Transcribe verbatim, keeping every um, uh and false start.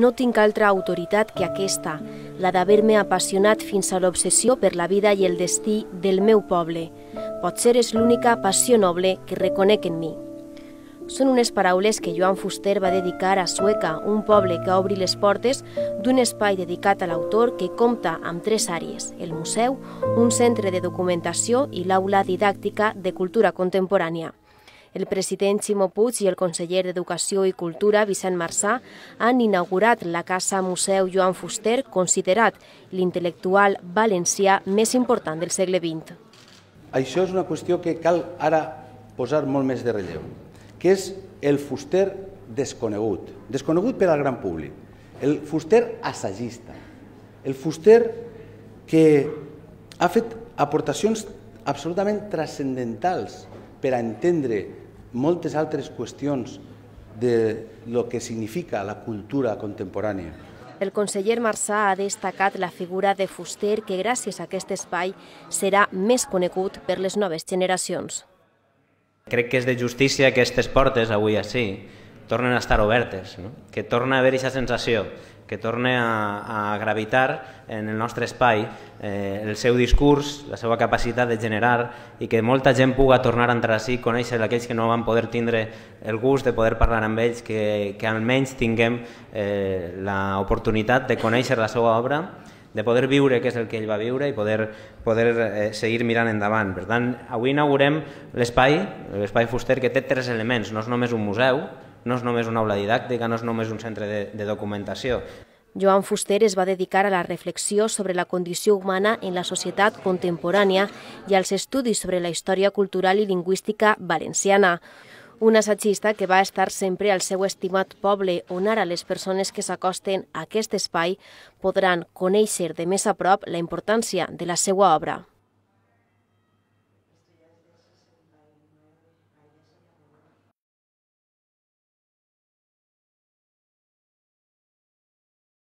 No tinc altra autoritat que aquesta, la d'haver-me apassionat fins a l'obsessió per la vida i el destí del meu poble. Potser és l'única passió noble que reconec en mi. Són unes paraules que Joan Fuster va dedicar a Sueca, un poble que obri les portes d'un espai dedicat a l'autor que compta amb tres àrees: el museu, un centre de documentació i l'aula didàctica de cultura contemporània. El president Ximo Puig i el conseller d'Educació i Cultura, Vicent Marsà, han inaugurat la Casa Museu Joan Fuster, considerat l'intel·lectual valencià més important del segle vint. Això és una qüestió que cal ara posar molt més de relleu, que és el Fuster desconegut, desconegut per al gran públic, el Fuster assagista, el Fuster que ha fet aportacions absolutament transcendentals per a entendre moltes altres qüestions de lo que significa la cultura contemporània. El conseller Marsà ha destacat la figura de Fuster, que gràcies a aquest espai serà més conegut per les noves generacions. Crec que és de justícia que aquestes portes, avui així, tornen a estar obertes, no? Que torna a haver aquesta sensació, que torna a, a gravitar en el nostre espai eh, el seu discurs, la seva capacitat de generar, i que molta gent puga tornar a entrar així, conèixer aquells que no van poder tindre el gust de poder parlar amb ells, que, que almenys tinguem eh, l'oportunitat de conèixer la seva obra, de poder viure què és el que ell va viure i poder, poder eh, seguir mirant endavant. Per tant, avui inaugurem l'espai, l'espai Fuster, que té tres elements. No és només un museu, no és només una aula didàctica, no és només un centre de, de documentació. Joan Fuster es va dedicar a la reflexió sobre la condició humana en la societat contemporània i als estudis sobre la història cultural i lingüística valenciana. Un assagista que va estar sempre al seu estimat poble, on ara les persones que s'acosten a aquest espai podran conèixer de més a prop la importància de la seva obra.